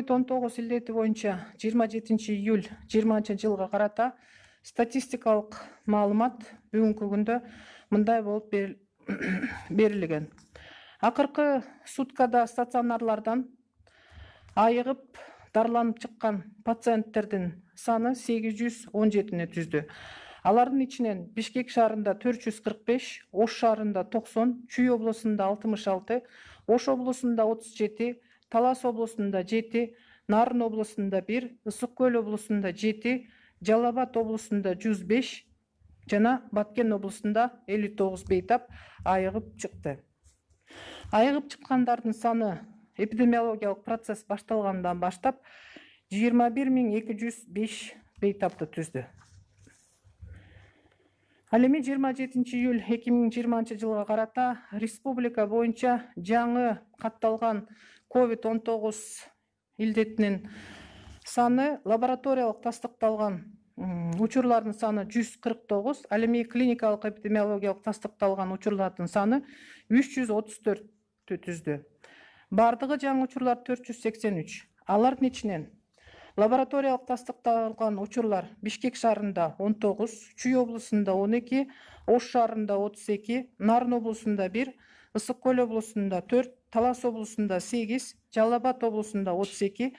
COVID-19 илдети боюнча 27-июль 2020 карата статистикалык маалымат бүгүнкү күндө мындай болуп берилген. Акыркы суткада стационарлардан айыгып дарыланып чыккан пациенттердин саны 817 түздү. Алардын ичинен Бишкек шаарында 445, Ош шаарында 90, Чүй облусунда 66, Ош облусунда 37, Талас облусунда 7, Нарын облусунда 1, Ысык Көл облусунда 7, Жалал Абад облусунда 105 жана Баткен облусунда 59 бейтап айыгып чыкты. Айыгып чыккандардын саны эпидемиологиялык процесс башталгандан баштап 21205 бейтапты түздү. Ал эми 27 июль 2020 жылга карата республика боюнча жаңы катталган COVID-19 илдетинин саны лабораториялык тастыкталган учурлардын саны 149, ал эми клиникалык эпидемиологиялык тастыкталган учурлардын саны 334 түздү. Бардыгы жаңы учурлар 483. Алардын ичинен лабораториялык тастыкталган учурлар Бишкек шаарында 19, Чүй облусунда 12, Ош шаарында 32, Нарын облусунда 1, Ысык Көл облусунда 4, Талас облусунда 8, Жалал Абад облусунда 32,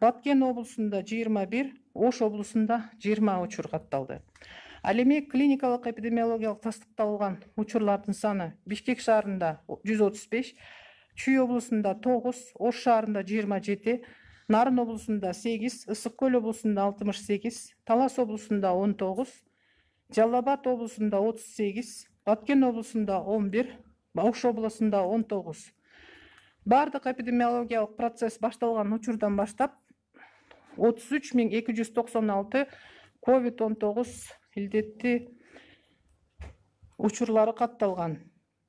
Баткен облусунда 21, Ош облусунда 20 учур катталды. Ал эми клиникалык эпидемиологиялык тастыкталган учурлардын саны Бишкек шаарында 135, Чүй облусунда 9, Ош шаарында 27, Нарын облусунда 8, Ысык Көл облусунда 68, Талас облусунда 19, Жалал Абад облусунда 38, Баткен облусунда 11, Ош облусунда 19. Бардык эпидемиологиялык процесс башталган учурдан баштап 33296 COVID-19 илдети учурлары катталган.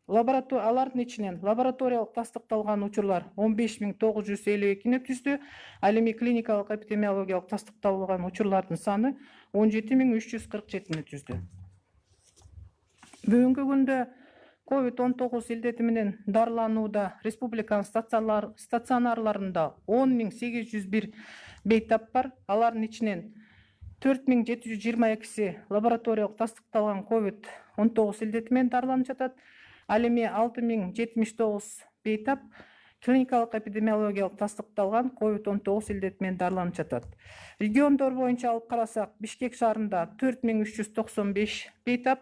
Алардын ичинен лабораториялык тастыкталган учурлар 15952 түздү. Ал эми клиникалык эпидемиологиялык тастыкталган учурлардын саны 17347 түздү. Бүгүнкү күндө COVID-19 илдети менен дарыланууда республиканын стационарларында 10801 бейтап бар. Алардын ичинен 4722 лабораториялык тастыкталган COVID-19 илдети менен дарыланып жатат. Ал эми 6079 бейтап клиникалык эпидемиологиялык тастыкталган COVID-19 илдети менен дарыланып жатат. Региондор боюнча алып карасак, Бишкек шаарында 4395 бейтап,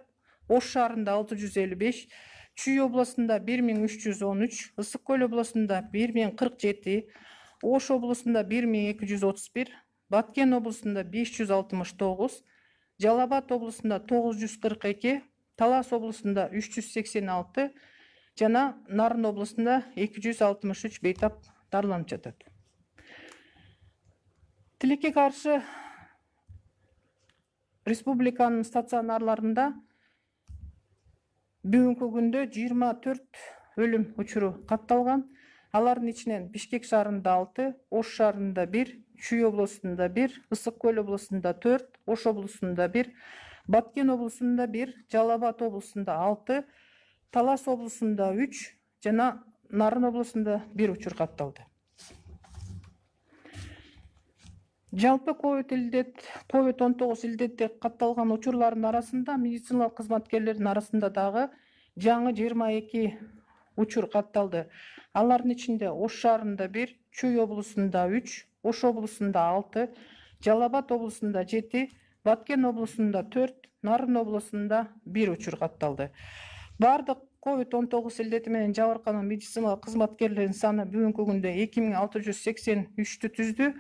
Ош шаарында 655, Чүй облусунда 1313, Ысык Көл облусунда 1047, Ош облусунда 1231, Баткен облусунда 569, Жалал Абад облусунда 942, Талас облусунда 386 жана Нарын облусунда 263 бейтап дарыланып жатат. Тилекке каршы республиканын стационарларында бүгүнкү күндө 24 өлүм учуру катталган. Алардын ичинен Бишкек шаарында 6, Ош шаарында 1, Чүй облусунда 1, Ысык Көл облусунда 4, Ош облусунда 1, Баткен облусунда 1, Жалал Абад облусунда 6, Талас облусунда 3 жана Нарын облусунда 1 учур катталды. Жалпы COVID-19 илдети катталган учурлардын арасында медициналык кызматкерлердин арасында дагы жаңы 22 учур катталды. Алардын ичинде Ош шаарында 1, Чүй облусунда 3, Ош облусунда 6, Жалал Абад облусунда 7, Баткен облусунда 4, Нарын облусунда 1 учур катталды. Бардык COVID-19 илдети менен жабыркаган медициналык кызматкерлердин саны бүгүнкү күндө 2683 түздү.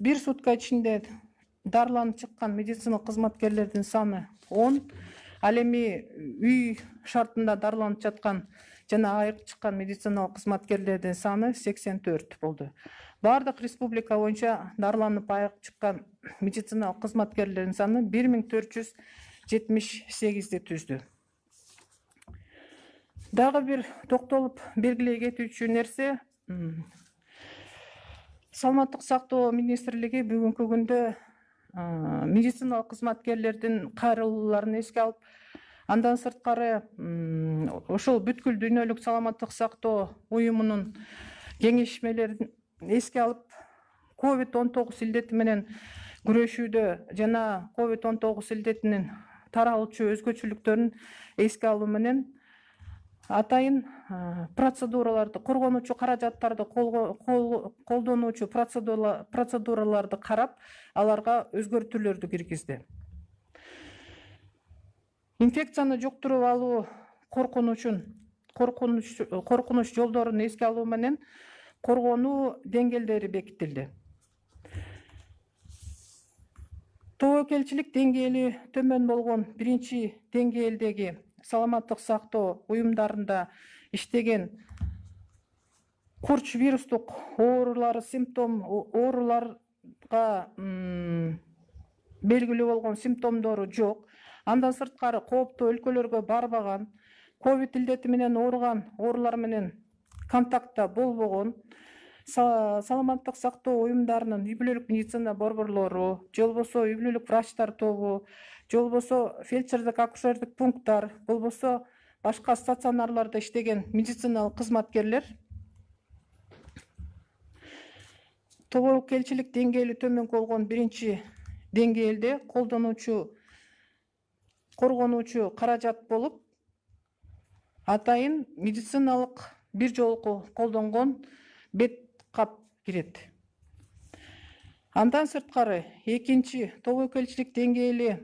Бир сутка ичинде дарыланып чыккан медициналык кызматкерлердин саны 10. Ал эми үй шартында дарыланып жаткан жана айыгып чыккан медициналык кызматкерлердин саны 84 болду. Бардык республика боюнча дарыланып айыгып чыккан медициналык кызматкерлердин саны 1478 түздү. Дагы бир токтолуп белгилей кетүүчү нерсе, Саламаттык сактоо министрлиги бүгүнкү күндө медициналык кызматкерлердин кайрылууларын эске алып, андан сырткары ошол бүткүл дүйнөлүк саламаттык сактоо уюмунун кеңешмелерин эске алып, COVID-19 илдети менен күрөшүүдө жана COVID-19 илдетинин таралуучу өзгөчөлүктөрүн эске алуу менен атайын процедураларды, коргонуучу каражаттарды колдонуучу процедураларды карап, аларга өзгөртүүлөрдү киргизди. Инфекцияны жуктуруп алуу коркунуч жолдорун эске алуу менен коргонуу деңгээлдери бекитилди. Тобокелчилик деңгээли төмөн болгон биринчи деңгээлдеги саламаттык сактоо уюмдарында иштеген курч вирустук ооруларга белгилүү болгон симптомдору жок. Андан сырткары кооптуу өлкөлөргө барбаган, ковид илдети менен ооруган оорулар менен контактта болбогон, саламаттык сактоо уюмдарынын үй бүлөлүк медицина борборлору, же болбосо үй бүлөлүк врачтар тобу, же болбосо фельдшердик акушердик пункттар, болбосо башка стационарларда иштеген медициналык кызматкерлер тобокелчилик деңгээли төмөн болгон биринчи деңгээлде коргонуучу каражат болуп, атайын медициналык бир жолку колдонгон бет кап кирет. Андан сырткары экинчи тобокелчилик деңгээли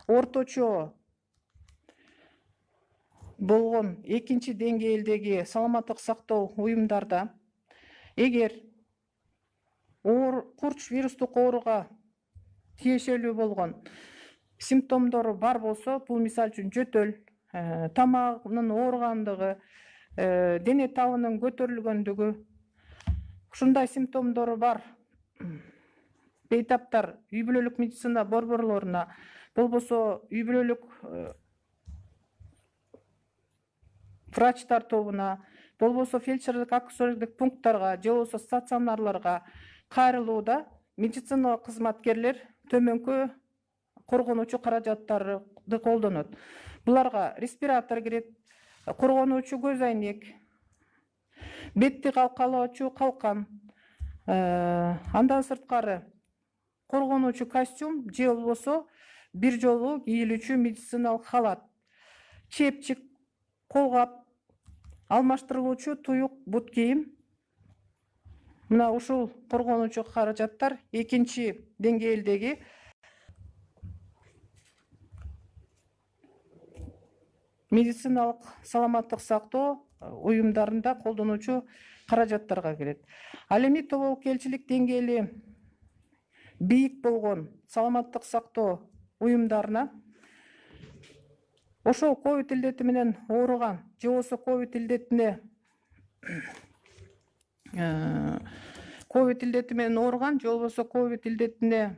орточо болгон экинчи деңгээлдеги саламаттык сактоо уюмдарда эгер курч вирустук ооруга тиешелүү болгон симптомдору бар болсо, бул мисалы үчүн жөтөл, тамагынын ооругандыгы, дене табынын көтөрүлгөндүгү, ушундай симптомдору бар бейтаптар үй бүлөлүк медицина борборлоруна, болбосо үй бүлөлүк врачтар тобуна, болбосо фельдшердик акушердик пункттарга, же болбосо стационарларга кайрылууда медициналык кызматкерлер төмөнкү коргонуучу каражаттарды колдонот. Буларга респиратор кирет, коргонуучу көз айнек, бетти калкалоочу калкан, андан сырткары коргонуучу костюм же болбосо бир жолу кийилүүчү медициналык халат, чепчик, колгап, алмаштырылуучу туюк бут кийим. Мына ушул коргонуучу каражаттар экинчи деңгээлдеги медициналык саламаттык сактоо уюмдарында колдонуучу каражаттарга кирет. Ал эми тобокелчилик деңгээли бийик болгон саламаттык сактоо уюмдарына ошол ковид илдети менен ооруган, же болбосо ковид илдети менен ооруган, же болбосо ковид илдетине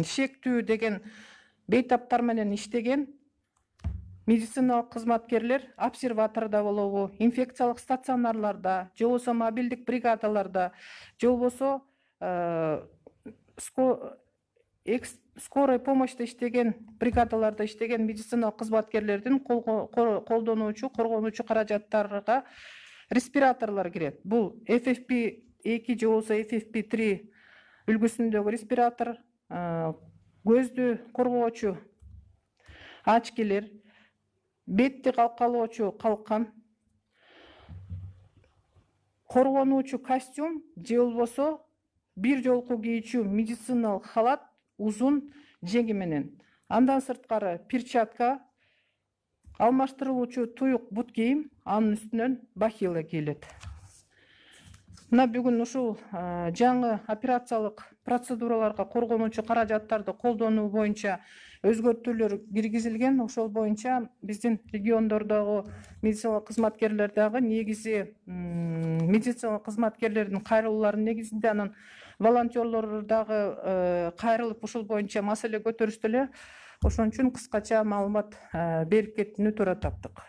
шектүү деген бейтаптар менен иштеген медициналык кызматкерлер обсерватордо болобу, инфекциялык стационарларда, же болбосо мобилдик бригадаларда, же болбосо скорой помощьта иштеген бригадаларда иштеген медициналык кызматкерлердин колдонуучу коргонуучу каражаттарга респираторлор кирет. Бул FFP2 же болбосо FFP3 үлгүсүндөгү респиратор, көздү коргоочу очкилер, бетти калкалоочу калкан, коргонуучу костюм же болбосо бир жолку кийүүчү медициналык халат узун жеңи менен. Андан сырткары перчатка, алмаштырылуучу туюк бут кийим, анын үстүнөн бахила кийилет. Мына бүгүн ушул жаңы операциялык процедураларга коргонуучу каражаттарды колдонуу боюнча өзгөртүүлөр киргизилген. Ошол боюнча биздин региондордогу медициналык кызматкерлер дагы негизи медициналык кызматкерлердин кайрылууларынын негизинде, анан волонтерлор дагы кайрылып ушул боюнча маселе көтөрүштү эле. Ошон үчүн кыскача маалымат берип кетүүнү туура таптык.